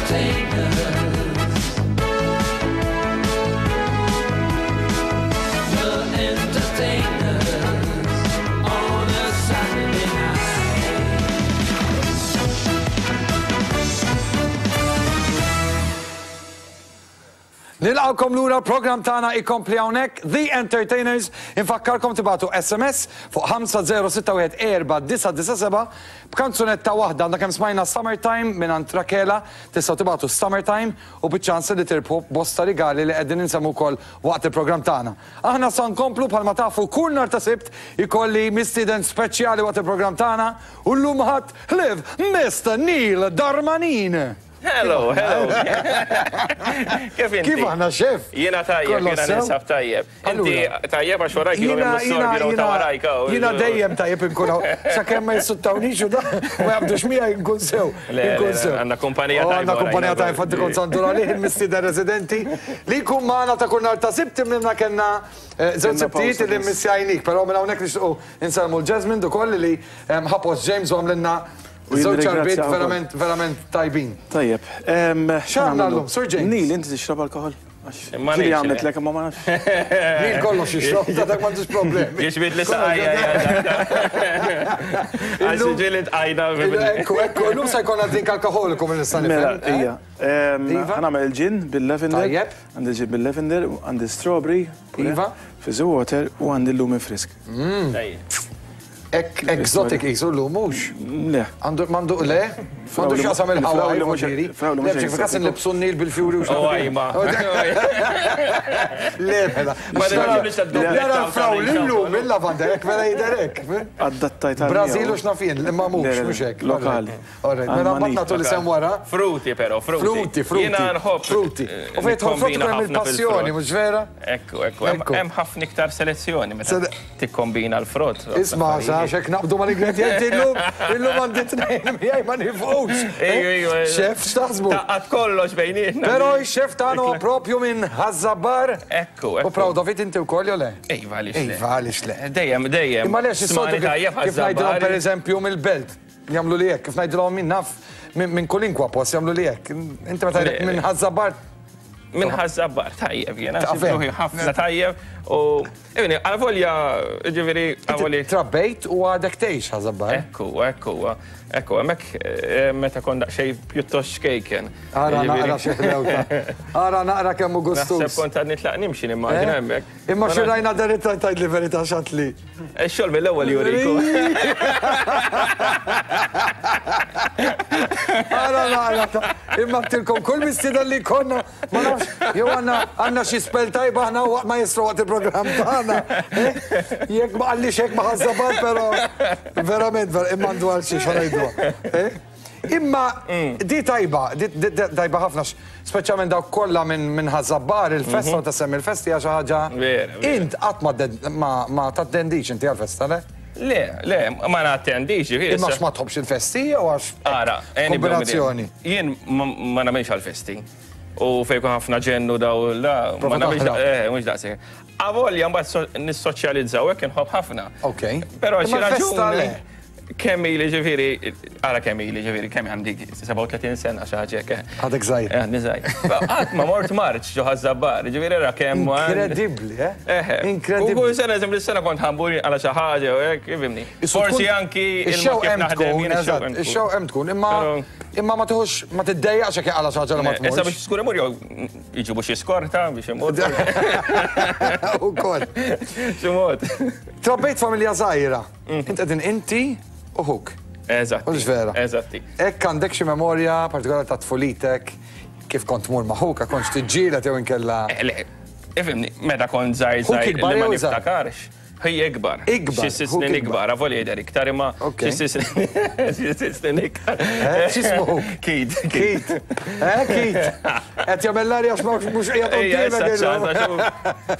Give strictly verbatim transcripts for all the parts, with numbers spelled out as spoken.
Entertainers. The Entertainers on a Saturday night. Nilqawkom lura program tagħna ikompli hawnhekk The Entertainers. Infakkarkom tibatu S M S fuq ħamsa zero sitta wieħed erba' disa' disa' seba' b'kanzunetta waħda. Għandna kemm smajna Summertime minn Rakela, tistgħu tibatu Summertime u biċ-ċans li tirbħu bosta rigali li qegħdin insemmu wkoll waqt il-programm tagħna. Aħna sa nkomplu bħalma tafu kull nhar ta' Sibt ikolli mistieden speċjali waqt il-programm tagħna u llum ħadd ħlief Mister Neil Darmanin. Hello, hello. Kif inti? Kif aħna, xef? Jiena tajjeb, jiena ninsab tajjeb. Inti tajjeb għax warajk jiena mis-sorbi ta' warajk. Jiena dejjem tajjeb inkun hawn. Sakemm ma jissuttawnix u da, ma jabdux miegħi nkun sew. Nkun sew. Għandna kumpanija tajba. Għandna kumpanija tajba, infatti kont sandur għalih il-mistieden residenti li jkun magħna ta' kull nhar ta' Sibt imma kellna żewġ Sibtijiet li mmissjajnik, però minn hawnhekk nixtiequ insellmu l-Jasmine ukoll li ħapos James u għamlilna żewġ ċarbiet verament, verament tajbin. Tajjeb. X'għandna llum, Sir James? Neil, inti tixrob alkohol? Ġieli għamlet lek imma ma nafx. Neil kollox jixrob, ta' dak m'għandux problemi. Jixbit li saqajja. Għax ġieli tqajna. Ekku, ekku, illum se jkollna drink alkoholiku minn nista' nifhem. Mela, hija. Ħa nagħmel il-ġin bil-lavender. Tajjeb. Għandi ġin bil-lavender, għandi strawberry. Iva. Fizzy water u għandi l-lumin frisk. Tajjeb. Ek exotic jisu l-lum, mux? Le. Għandu, mandu, le? Mandu xaqsam il-Hawaii, voġiri? Le, bċek fikasin nibsu n-nil bil-fjuri u xaqsam. Oh, ajma. Le, mela. Nara l-frawli l-lum, il-lavanda, ek mela jiderek. Adattajt għal. Brazil u xnafien, imma mux, mux hekk. Lokali. Alright, mela mbagħad nagħtu li sem wara. Fruti, però, fruti. Fruti, fruti. Jiena nħobb. Fruti. U fejn tħobb fruti hemm il-passjoni, mhux vera? Ekku, ekku. Hemm ħafna iktar selezzjoni meta tikkombina l-frott. Isma' għax naqbdu mal-ingredienti illum, illum għandi tnejn miegħi ma nifqux. Ejju, ejju. Xef, x'taħsbu? Taqqat kollox bejnietna. Però x-xef tagħna huwa propju minn Ħaż-Żabbar. Ekku, ekku. U proud of it inti wkoll jew le? Iva, għaliex le. Iva, għaliex le. Dejjem, dejjem. Imma għaliex is-soltu kif ngħidilhom pereżempju mill-belt, jagħmlu li hekk, kif ngħidilhom min naf minn kulinkwa post jagħmlu li hekk. Inti meta tgħidlek minn Ħaż-Żabbar. Minn Ħaż-Żabbar, tajjeb jiena, ħafna tajjeb u ibni, għal-volja, ġifieri, għal-volja. Trabbejt u għadek tgħix Ħaż-Żabbar. Ekku, ekku, ekku, hemmhekk meta kont daqsxejn pjuttost xkejken. Ara naqra xi ħlewta. Ara naqra kemm hu gustuż. Naħseb kont għad nitlaq nimxi nimmaġina hemmhekk. Imma xi rajna deritta tgħidli verità x'għad li. Ix-xogħol mill-ewwel juriku. Ara naqra, imma tilkom kull mistieden li konna, ma nafx, jew għandna għandna xi spell tajba aħna waqt ma jistru waqt il-programm tagħna. Jekk ma qallix hekk ma Ħaż-Żabbar, però verament, imma għandu għal xi xorajduha. Imma di tajba, di tajba ħafna, speċjalment dawk kollha minn Ħaż-Żabbar, il-festa u tasemmi il-festi hija xi ħaġa. Int qatt ma tattendix inti għall-festa, le? Le, le, ma nattendix. Imma għax ma tħobbx il-festi jew għax kombinazzjoni? Jien ma nagħmilx għall-festi. U fejn jkun ħafna ġennu daw la, ma nagħmilx, eh, mhux daqshekk. Avolja mbagħad nissoċjalizzaw hekk inħobb ħafna. Okej. Però xi raġuni kemm ili ġifieri, ara kemm ili ġifieri, kemm għandi sebgħa u tletin sena xi ħaġa hekk. Għadek żgħir. Għadni żgħir. Qatt ma mort marċ ġo Ħaż-Żabbar, ġifieri ra kemm. Inkredibbli, eh? Inkredibbli. U kull sena eżempju s-sena kont ħambur għal xi ħaġa u hekk, ifhimni. Forsi anki il-mod kif naħdem jien ix-xewq hemm tkun, imma imma ma tieħux ma tiddejjaqx jekk għala xi ħaġa li ma tmurx. Issa biex skur imur jew jiġibu xi skorta biex imur. Ukoll. Xi mod. Trabbejt familja żgħira. Int qegħdin inti u ħuk. Eżatt. Mhux vera. Eżatti. Hekk għandek xi memorja partikolari ta' tfulitek, kif kont tmur ma' ħuk, kontx tiġġieled jew inkella. Le, ifhimni, meta kont żgħir żgħir li ma niftakarx. Hi ikbar. Ikbar. Xi sitt snin ikbar, avolja jidher iktar imma xi sitt snin ikbar. X'ismu? Kid. Kid. Eh, Kid. Qed jagħmel l-arja għax mhux qiegħed qudiemek.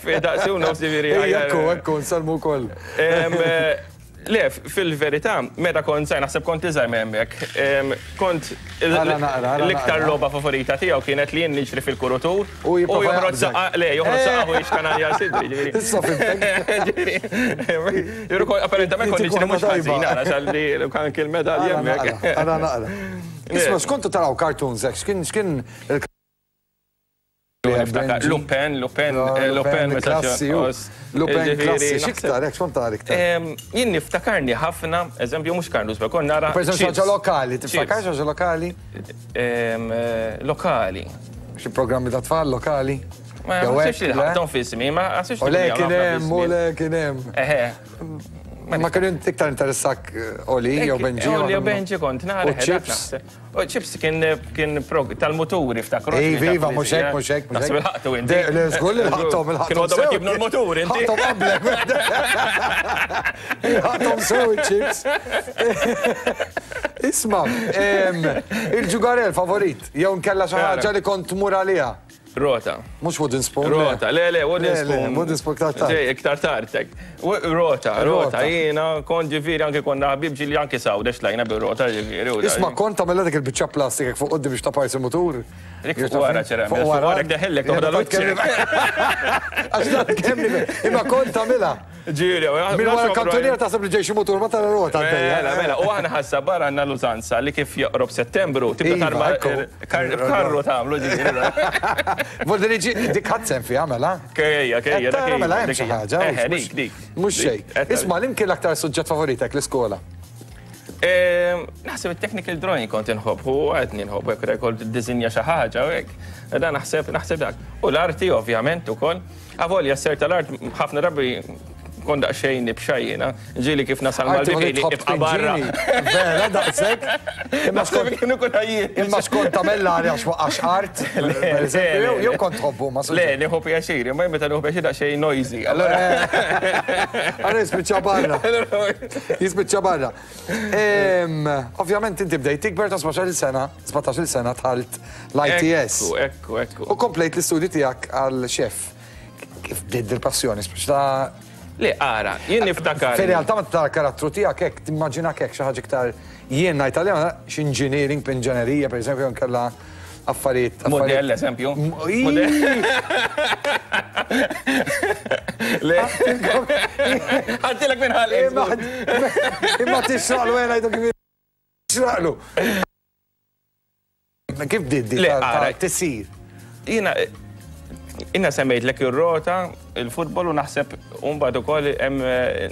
Fi daqsi u nofs ġifieri. Ekku, ekku, nsellmu wkoll. Le, fil-verità, meta kont żgħir, naħseb kont iżgħar minn hemmhekk, kont l-iktar logħba favorita tiegħu kienet li jien niġri fil-kurutur u joħroġ saqqa, le, joħroġ saqqa u jixkanalja sidri, ġifieri. Issa fimtek. Ġifieri. Apparentament kont niġri mhux ħażin, ara xalli anke l-medalja hemmhekk. Ara naqra. Isma, x'kontu taraw cartoons hekk, x'kien x'kien il Lupin, Lupin, Lupin, klassi, Lupin klassi, x'iktar, hekk x'kont tara iktar? Jien niftakarni ħafna, eżempju mhux Carlos, kont nara. Per eżempju ħaġa lokali, tiftakar xi ħaġa lokali? Lokali. Xi programmi ta' tfal lokali? Ma ħassibx li ħaqthom f'ismi, ma ħassibx li. Le kien hemm, u le kien hemm. Eħe. Ma kien iktar interessak Oli jew Benji? Oli jew Benji kont nara. U Chips? U Chips kien tal-muturi ftakru. Iva, iva, mhux hekk, mhux hekk. Naħseb il-ħaqtu inti. Le, żgur li ħaqthom, il-ħaqthom. Kienu għadhom jibnu l-mutur inti. Ħaqthom qablek. Ħaqthom sew il-Chips. Isma', il-ġugarel favorit, jew nkella xi ħaġa li kont tmur għaliha. Rota. Mhux wooden spoon. Rota, le, le, wooden spoon. Wooden spoon iktar tard. Iktar tard, Rota, rota, jiena kont ġifieri anke konna ħabib ġieli anke sawdex tlajna bir-rota ġifieri. Isma' kont tagħmilha dik il-biċċa plastik fuq quddiem biex taparsi mutur. Dik fuq wara ċerem. Fuq wara deħellek toħodha l-wiċċ. Għax dat kemm imma kont tagħmilha. Ġieli, minn wara kantuniera taħseb li ġej xi mutur ma tara rota għaddejja. Mela, mela, u aħna ħassa barra għandna l-użanza li kif joqrob Settembru tibda tarma karru tagħmlu ġifieri. Voldi li dik ħadd sehem fiha mela? Kejja, kejja, dak. Mela hemm xi ħaġa. Dik, dik. Mhux xejn. Isma' li kien l-aktar suġġett favoritek l-iskola? Naħseb it-technical drawing kont inħobb, u għadni nħobb, hekk kont iddisinja xi ħaġa u hekk. Dan naħseb naħseb dak. U l-arti ovvjament ukoll. Avolja s-ser tal-art ħafna drabi kont daqsxejn nibxa jiena, ġieli kif nasal mal-bibili ibqa' barra. Vera daqshekk. Imma skont kienu kun ħajjin. Imma skont tagħmel l-arja għax art, pereżempju, jew kont tħobbu ma Le, nieħu pjaċir, imma meta nieħu pjaċir daqsxejn noisy. Allora Allora jispiċċa barra. Jispiċċa barra. Ovvjament inti bdejt tikber ta' sbatax-il sena, sbatax-il sena dħalt l-I T S. Ekku, ekku, ekku. U komplejt l-istudji tiegħek għal xef. Kif bdiet dil-passjoni, speċi ta' Le, ara, jien niftakar. Fir-realtà meta tara karattru tiegħek hekk timmaġinak hekk xi ħaġa iktar jien ngħid għalija x'engineering b'inġenerija pereżempju nkella affarijiet. Modell eżempju. Modell. Le. Ħadtilek minn ħalli. Imma tixraqlu jien ngħidu kif tixraqlu. Kif bdiet di tisir? Jiena Inna semmejtlek ir-rota, il-futbol u naħseb mbagħad ukoll hemm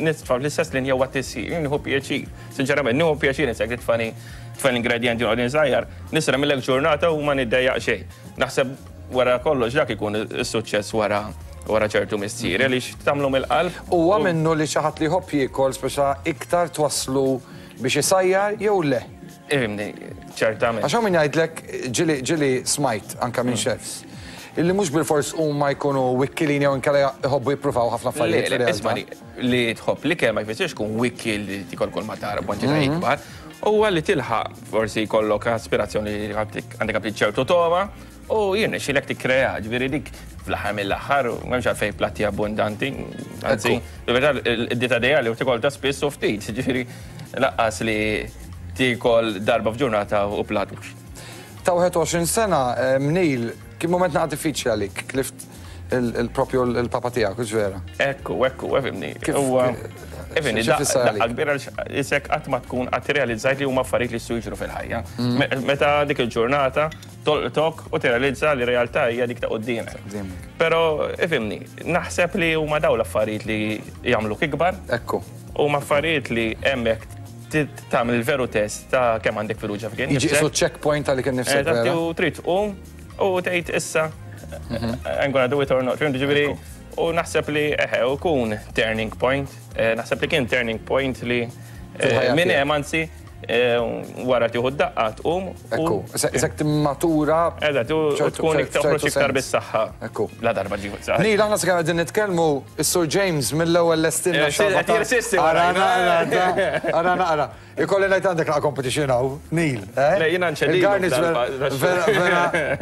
nitfa' fl-istess linja huwa tisir. Jien nieħu pjaċir. Sinċerament nieħu pjaċir insek li tfani tfani l-ingredjenti noqgħod insajjar, nisra millek ġurnata u ma niddejjaq xejn. Naħseb wara kollox dak ikun is-suċċess wara wara ċertu mistier għaliex tagħmlu mill-qalb. Huwa minnu li xi ħadd li jħobb jiekol speċa iktar twasslu biex isajjar jew le? Ifhimni, ċertament. Għax hawn min jgħidlek ġieli ġieli smajt anke minn chefs. Illi mhux bilfors huma jkunu wikkilin jew inkella jħobbu jippruvaw ħafna affarijiet. Le, isma' li tħobb l-ikel ma jfissirx tkun wikkil li tikol kull ma tara b'kwantità ikbar. Huwa li tilħaq forsi jkollok aspirazzjoni li għandek aptit ċertu togħma u jirnexxilek tikkrea, ġifieri dik fl-aħħar mill-aħħar m'hemmx għalfejn platti abbundanti, anzi, fil-verità id-dieta ideali u tikol ta' spiss u ftit, ġifieri laqqas li tikol darba f'ġurnata u platt. Ta' wieħed u għoxrin sena, Neil, kien moment naqa' diffiċli għalik, tlift il-propju il-papa tiegħek, hux vera? Ekku, ekku, efimni. Huwa efimni, daqqa kbira isek qatt ma tkun qatt tirrealizzajt li huma affarijiet li jistgħu jiġru fil-ħajja. Meta dik il-ġurnata tolqtok u tirrealizza li realtà hija dik ta' quddiemek. Però ifhimni, naħseb li huma dawn l-affarijiet li jagħmluk ikbar. Ekku. Huma affarijiet li hemmhekk tagħmel il-veru test ta' kemm għandek fiduċja fik innifsek. Jiġi qisu checkpoint għalik innifsek. Eżatt, u trid tqum u tgħid issa I'm gonna do it or not. Ġifieri, u naħseb li eħe, u kun turning point, naħseb li kien turning point li minn hemm anzi wara tieħu d-daqqa tqum. Ekku, isek timmatura. Eżatt, u tkun toħroġ iktar bis-saħħa. Ekku. La darba ġieħu saħħa. Neil, aħna sakemm qegħdin nitkellmu, is-Sur James mill-ewwel lestilna xi. Jirsisti. Ara naqra, ara naqra. Ikolli ngħid għandek naqa' competition hawn, Neil. Le, jiena nċedilu. Il-garnish vera vera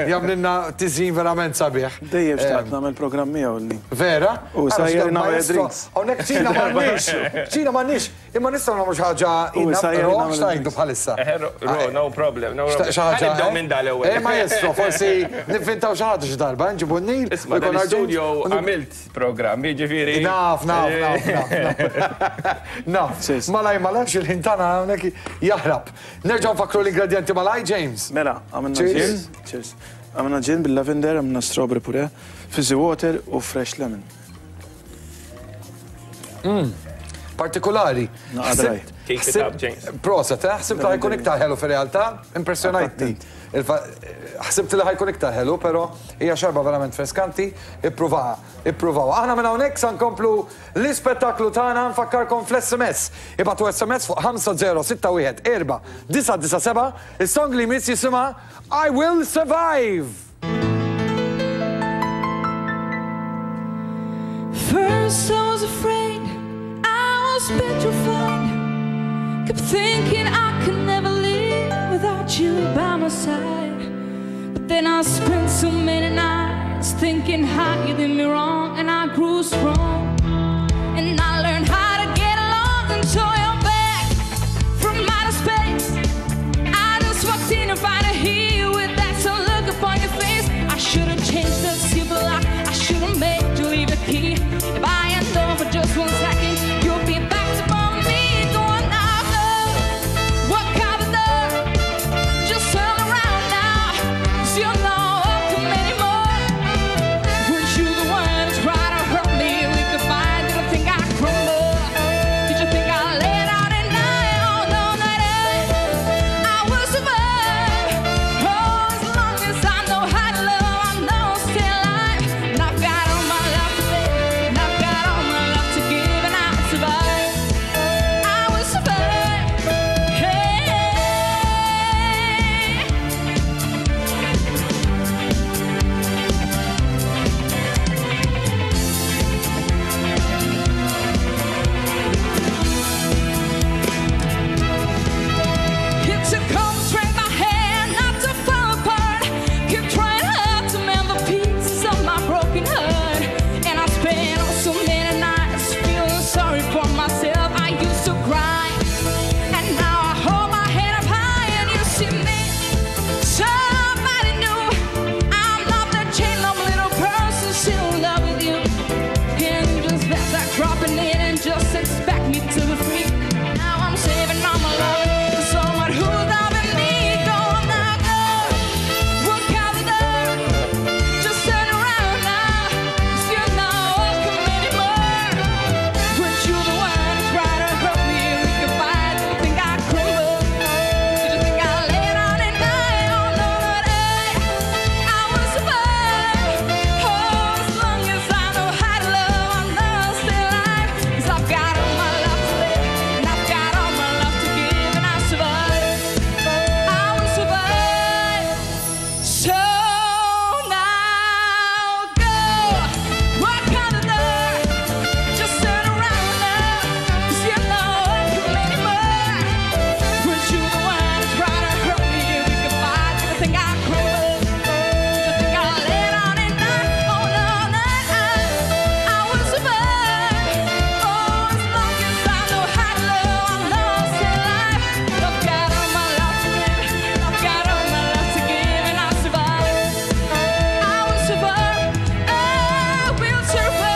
jagħmlilna tiżjin verament sabiħ. Dejjem xtaqt nagħmel programm miegħu lni. Vera? U sajjer nagħmel drinks. Hawnhekk ċina m'għandniex, ċina m'għandniex, imma nistgħu nagħmlu xi ħaġa ngħidu bħalissa. No problem, no problem. Xi ħaġa nibdew minn dal-ewwel. Eh maestro, forsi nivvintaw xi ħaġa xi darba, nġibu n-Neil. Isma' dan-studio għamilt programm, jiġifieri. Naf, naf, naf, naf. Naf. Malaj, malaj, xil-ħin tagħna hawnhekk jaħrab. Nerġgħu nfakru l-ingredjenti malaj, James. Mela, għamilna gin. Cheers. Għamilna gin bil-lavender, għamilna strawberry puree, fizzy water u fresh lemon. Partikolari. Proset, ħsibt li ħajkun iktar ħelu fir-realtà, impressjonajtni. Ħsibt li ħajkun iktar ħelu, però hija xarba verament freskanti, ippruvaha, ippruvaw. Aħna minn hawnhekk sa nkomplu l-ispettaklu tagħna, nfakkarkom fl-S M S. Ibatu S M S fuq ħamsa zero sitta wieħed erba' disa' disa' seba', is-song li jmiss jisimha I Will Survive. First I was afraid, I was petrified, kept thinking I could never live without you by my side. But then I spent so many nights thinking how you did me wrong, and I grew strong, and I learned how to get along until you're back from outer space. I just walked in and find a here with that so look upon your face. I should have changed the silver lock, I should have made you leave the key. If I had known for just one second, you'll be back to bother me. Go on now, go. Walk out the door. Just turn around now, 'cause you're not welcome anymore. Weren't you the one who tried to hurt me with the fire? Did I think I crumbled? Did you think I laid out at night? Oh no, not I. I will survive. Oh, as long as I know how to love, I know I'll stay alive. And I've got all my love to live, and I've got all my love to give, and I'll survive. I will survive. Hey. It took all the strength I had not to fall apart. Kept trying hard to mend the pieces of my broken heart. And I spent oh so many nights feeling sorry for myself. I used to cry, and now I hold my head up high, and you see me, somebody new. I'm not that chain of little person still in love with you. And you just let that dropping in and just expect me to be free. Now I'm saving all my love for someone who's loving me. Go on now, go. Walk out the door. Just turn around now, 'cause you're not welcome anymore. Weren't you the one who tried to hurt me with your fire? Did you think I crumbled? Did you think I laid out at night? Oh no, not I. I will survive. Oh, as long as I know how to love, I know I'll stay alive. 'Cause I've got all my love to live, and I've got all my love to give, and I'll survive. I will survive. So now go, walk out the door. Just turn around now, 'cause you're not welcome anymore. Weren't you the one who tried to hurt me with your fire? Did you think I crumbled? Did you think I laid out at night? Oh no, not I. I will survive. Oh, as long as I know how to love, I know I'll stay alive. I've got all my love to live, I've got all my love to give, and I'll survive. I will survive. I will survive.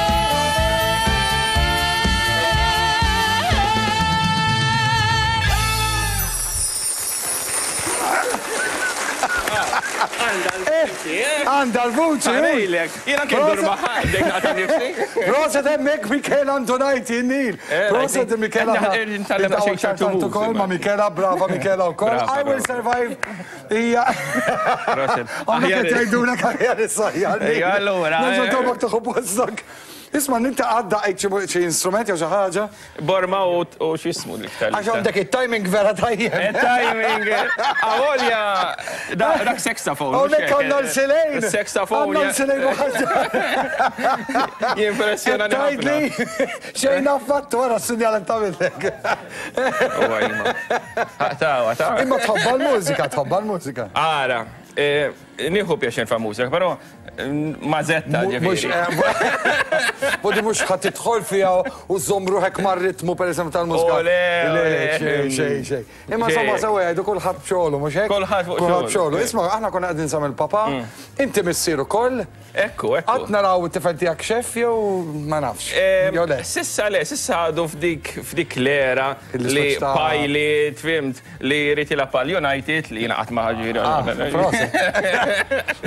Għandha l-vuċi. Għarejlek, jiena kien dur maħħa, dek naqta' nifsi. Proset hemmhekk Michela Antonajti, Neil. Proset Michela. Nitgħallem daqsxejn ċertu moves, ukoll ma' Michela, brava Michela wkoll. Brava, I will brava. survive. Hija. Proset. Għandek qed jgħidulek aħjar issa. Ejja, allura, Nerġa' eh. tobok tieħu postok. Isma' inti għadda xi instrument jew xi ħaġa. Borma u u x'ismu l-iktar. Għax għandek it-timing vera tajjeb. Il-timing. Avolja, dak saxophone. Hawnhekk għandna l-silejn. Saxophone. Għandna l-silejn u ħaġa. Jimpressjonani ħafna. Tgħidli xejn affattu wara s-sinjal tagħmilek. Uwa, imma. Tawa, tawa. Imma tħobba l-mużika, tħobba l-mużika. Ara, eh, nieħu pjaċir fa' mużika, però Mażetta ġifieri. Bodi mhux ħadd tidħol fiha u żomm ruħek mar-ritmu pereżempju tal-mużika. Le, xejn, xejn, xejn. Imma insomma sewwa jgħidu kulħadd b'xogħlu, mhux hekk? Kulħadd fuq xogħlu. Isma' aħna konna qegħdin sa mill-papà, inti missier ukoll. Ekku, ekku. Qatt naraw it-tifel tiegħek xef jew ma nafx. Jew le. Sissa le, sissa għadu f'dik f'dik l-era li pilot, fimt, li jrid jilgħab għal United li jiena qatt ma ġifieri.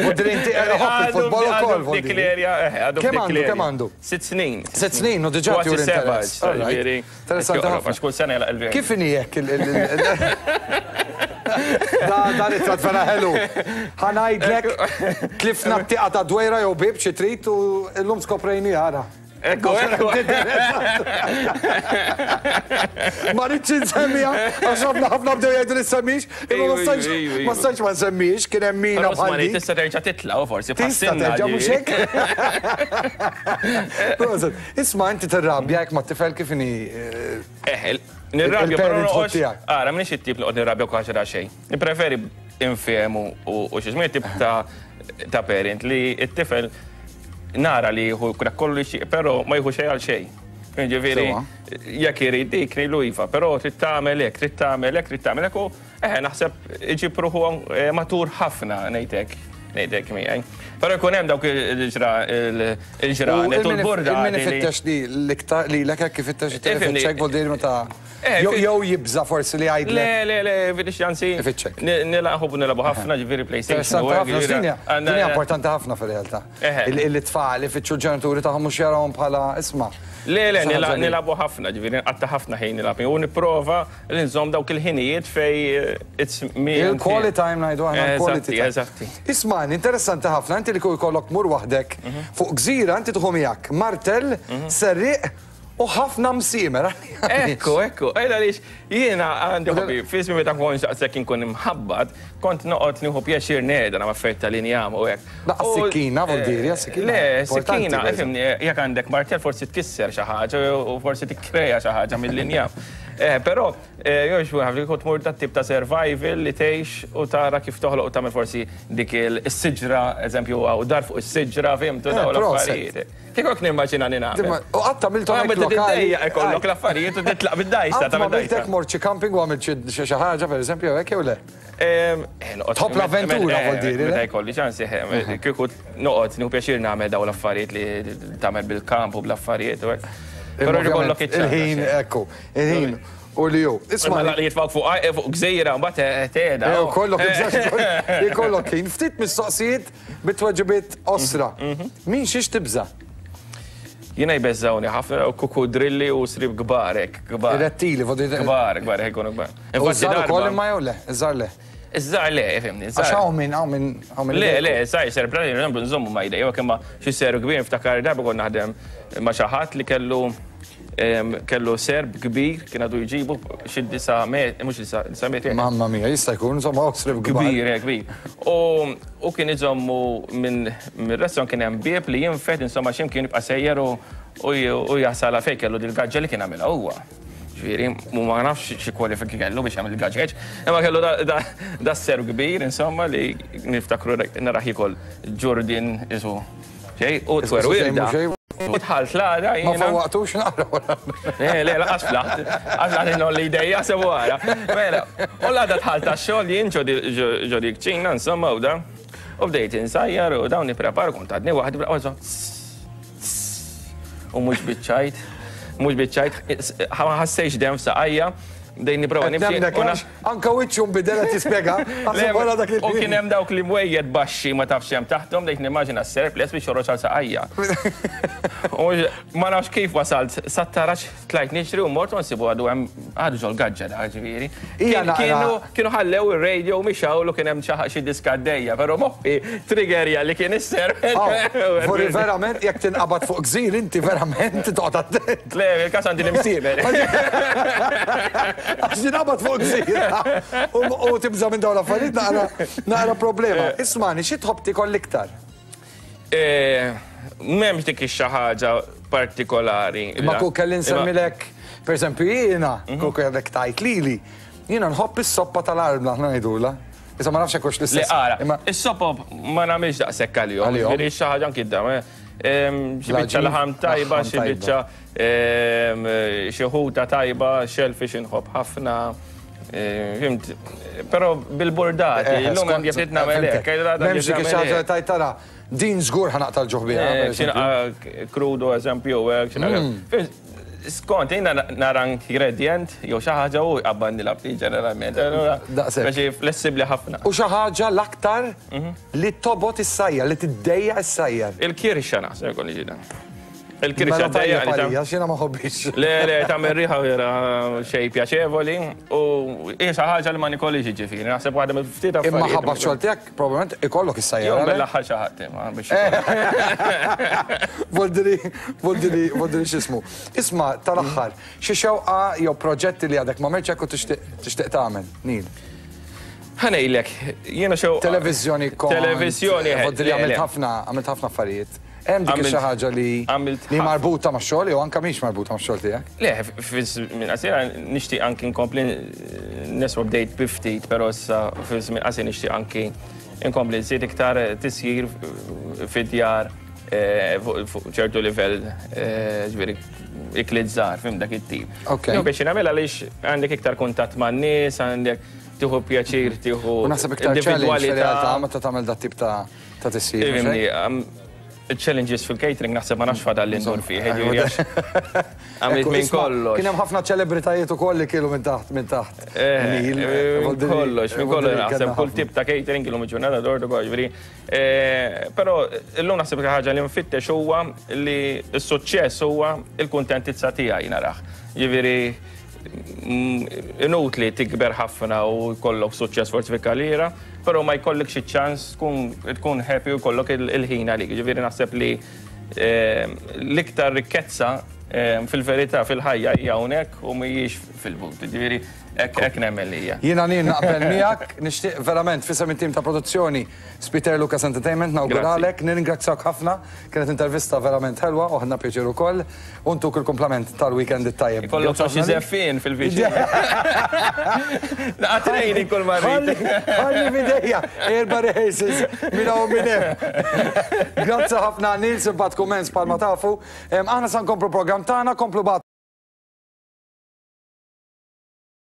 U drinti il-futbol ukoll. Dik l-erja, għadu Kemm għandu, kemm għandu? Sitt snin. Sitt snin, u diġà tjur interess. Interessanti ħafna. Għax kull sena jilgħab il-Veri. Kif inhi hekk il- Da da ritratt vera ħelu. Ħa ngħidlek tlifna t-tieqa ta' dwejra jew bieb xi trid u llum skoprejni ara. Ekku, ekku. Ma rridx insemmiha, għax ħafna ħafna bdew jgħidu li semmix, imma ma stajtx ma stajtx ma nsemmix, kien hemm mina bħal. Tista' terġa' titla' u forsi Tista' terġa' mhux hekk. Proset, isma' inti tirrabja jekk mat-tifel kif inhi. Eh, nirrabja però noqgħodx. Ara, m'iniex it-tip li noqgħod nirrabja kważi ra xejn. Nippreferi infehmu u xi żmien tip ta' parent li t-tifel nara li jieħu kollu xi, però ma jieħu xejn għal xejn. Ġifieri, jekk irid dik ngħidlu iva, però trid tagħmel hekk, trid tagħmel hekk, trid tagħmel hekk u eħe naħseb iġib ruħu matur ħafna ngħidlek, ngħidlek miegħi. Però jkun hemm dawk il-ġranet u l-burda. Il-min ifittex li l-iktar li l hekk ifittex it-telefon vuol meta jew jibża forsi li jgħidlek. Le, le, le, fittex anzi. Ifittxek. Nilagħbu nilagħbu ħafna ġifieri PlayStation. Dinja importanti ħafna fir-realtà. Il-tfal ifittxu l-ġenituri tagħhom mhux jarawhom bħala isma'. Le, le, nilagħbu ħafna, ġifieri nqatta' ħafna ħin nilgħab u nipprova li nżomm dawk il-ħinijiet fej it's me. Il-quality time ngħidu aħna quality time. Eżatti. Isma' interessanti ħafna, inti li jkollok mur waħdek fuq gżira inti tieħu miegħek martell, serrieq u ħafna msiemer. Ekku, ekku, ejla għaliex jiena għandi hobby, fi żmien meta kont daqshekk inkun imħabbat, kont noqgħod nieħu pjaċir ngħid ma' affarijiet tal-injam u hekk. Laqas sikkina, vuol dire, sikkina. Le, sikkina, ifhimni, jekk għandek martell forsi tkisser xi ħaġa u forsi tikkreja xi ħaġa mill-injam. Però, jew xi ħaġa kont tmur dat-tip ta' survival li tgħix u tara kif toħloq u tagħmel forsi dik is-siġra, eżempju, u dar fuq is-siġra, fhimtu dawn l-affarijiet. Kif nimmaġina li nagħmel? U qatt għamiltu hekk lokali. Ikollok l-affarijiet u titlaq bid-dajsa ta' bid-dajsa. Għamiltek mort xi camping u għamilt xi ħaġa pereżempju hekk jew le? Tħobb l-avventura vuol dire. Meta jkolli ċans kieku noqgħod nieħu pjaċir nagħmel dawn l-affarijiet li tagħmel bil-kamp u bl-affarijiet u hekk. Però jkollok il-ħin, ekku, il-ħin. U li ju. Isma' li jitfgħu fuq fuq gżejra mbagħad tgħeda. Kollok ikollok ħin ftit mistoqsijiet bit-tweġibiet qosra. Min xiex tibża'? Jiena jbeżżawni ħafna u kukudrilli u srib kbar hekk, kbar. Rettili, vodi. Kbar, kbar, hekk ikunu kbar. U żgħar ukoll imma jew le, iż-żgħar le. Iż-żgħar le, ifhimni, iż-żgħar. Għax hawn min, hawn min, hawn min. Le, le, żgħar ser plani, nżommu nżommu ma jdej, imma xi seru kbir niftakar darba kont naħdem ma' xi ħadd li kellu kellu serb kbir, kien għadu jġibu xi disa' metri, mhux disa' metri. Mamma mia, jista' jkun, insomma, serb kbir. Kbir, kbir. U kien iżommu minn restaurant kien hemm bieb li jinfed, insomma, x'imkien jibqa' sejjer u jasal fejn kellu dil-gaġġa li kien għamilha huwa. Ġifieri, u ma nafx xi kwalifiki kellu biex jagħmel il-gaġġeġ, imma kellu da serb kbir, insomma, li niftakru naraħ jiekol ġurdin isu. Xejn, u twerwirda. U tħalt l-għada jiena. Ma fawwaqtux naqra wara. Le, le, laqas flaħt. Għax għad inolli idejja sebu għara. Mela, u l-għada tħalt għax-xogħol jien ġo dik ċina, insomma, u da. U bdejt insajjar u dawn nipprepar kont għadni waħdi bla u mhux biċċajt, mhux biċċajt, ma ħassejx dem f'saqajja. Bdejt nipprova nimxi. Anka wiċċu nbidel qed jispjega. U kien hemm dawk li mwejjed baxxi ma tafx hemm taħthom, bdejt nimmaġina s-serp les biex joħroġ għal saqajja. U ma nafx kif wasalt, sat-taraġ tlajt nixtri u mort u nsibu għadu hemm għadu ġol gaġġa da ġifieri. Kienu ħallew ir-radio mixawlu kien hemm xi diska għaddejja, però moħħi triggerja li kien is-serp. Forri verament jekk tinqabad fuq gżir inti verament toqgħod attent. Le, il-każ għandi l-imsiemer. Għax tinqabad fuq gżira u tibża' minn dawn l-affarijiet naqra problema. Ismani, xi tħobb tiekol l-iktar? M'hemmx dik xi ħaġa partikolari. Ma ku kelli nsemmilek, pereżempju jiena, ku kellek tajt lili, jiena nħobb is-soppa tal-armla aħna ngħidulha. Issa ma nafx hekk hux l-istess. Le ara, is-sopop ma nagħmilx daqshekk għalihom. Ġifieri xi ħaġa anki xi biċċa laħam tajba, xi biċċa xi ħuta tajba, shellfish inħobb ħafna. Fhimt, però bil-burdati, illum hemm jekk nagħmel hekk. M'hemmx dik xi ħaġa tajt tara, din żgur ħa naqta' l-ġuħ biha. Xi crudo eżempju, skont, jiena nara ingredient, jew xi ħaġa u jqabbanni l-aptit ġeneralment. Daqshekk. Speċi flessibbli ħafna. U xi ħaġa l-aktar li tobgħod issajjar, li tiddejjaq issajjar. Il-kirxa naħseb jkun ġida. Il-kirxa dejja li għax jiena ma ħobbix. Le, le, tagħmel riħa vera xejn pjaċevoli u hija xi ħaġa li ma nikolix ġifieri, naħseb waħda mill-ftit affarijiet. Imma ħabba xogħol tiegħek probabbilment ikollok issajjar. Jew mill-aħħar xi ħadd imma biex. Voldiri, voldiri, voldiri x'ismu. Isma' tal-aħħar, xi xewqa jew proġetti li għadek ma merċek u tixtieq tagħmel, Neil? Ħa ngħidlek, jiena xewqa. Televiżjoni kont. Televiżjoni. Voldiri għamilt ħafna, għamilt ħafna affarijiet. Hemm dik xi ħaġa li li marbuta max-xogħol jew anke mhix marbuta max-xogħol tiegħek? Le, fi-żmien qasir nixtieq anki nkompli niswa bdejt bi ftit, però issa fi żmien qasir nixtieq anki nkompli nżid iktar tisjir fid-djar fuq ċertu livell, ġifieri ikliet żgħar, fhimt, dak it-tip. Ok. Biex nagħmel għaliex għandek iktar kuntatt man-nies, għandek tieħu pjaċir, tieħu U naħseb iktar challenge fir-realtà meta tagħmel dat tip ta' ta' tisjir. Ifhimni, challenges fil-catering naħseb ma nafx fadal li ndur fih, għamilt minn kollox. Kien hemm ħafna ċelebritajiet ukoll li kielu minn taħt minn taħt. Minn kollox, minn kollox naħseb kull tip ta' catering kielu ġurnata dordu ġifieri. Però illum naħseb ħaġa li nfittex huwa li s-suċċess huwa il-kuntentizza tiegħi narah. Ġifieri inutli tikber ħafna u jkollok suċċess forsi fil-karriera, però ma jkollok xi ċans tkun happy u jkollok il-ħin għalik. Ġifieri naħseb li l-iktar rikkezza fil-verità fil-ħajja hija hawnhekk u mhijiex fil-but. Ġifieri hekk nemmen li hija. Jiena Neil naqbel miegħek, nixtieq verament f'isem it-tim ta' produzzjoni Spiter Lucas Entertainment nawguralek, nirringrazzjak ħafna, kienet intervista verament ħelwa u ħadna pjaċir ukoll, u ntuk il-kumplament tal-weekend it-tajjeb. Ikollok xi żeffien fil-viċin. Naqatrejni kull ma rrid. Ħalli f'idejja, erba' rehearsals minn hawn minn hemm. Grazzi ħafna Neil, simpatku mens bħalma tafu. Aħna sa nkomplu program tagħna, komplu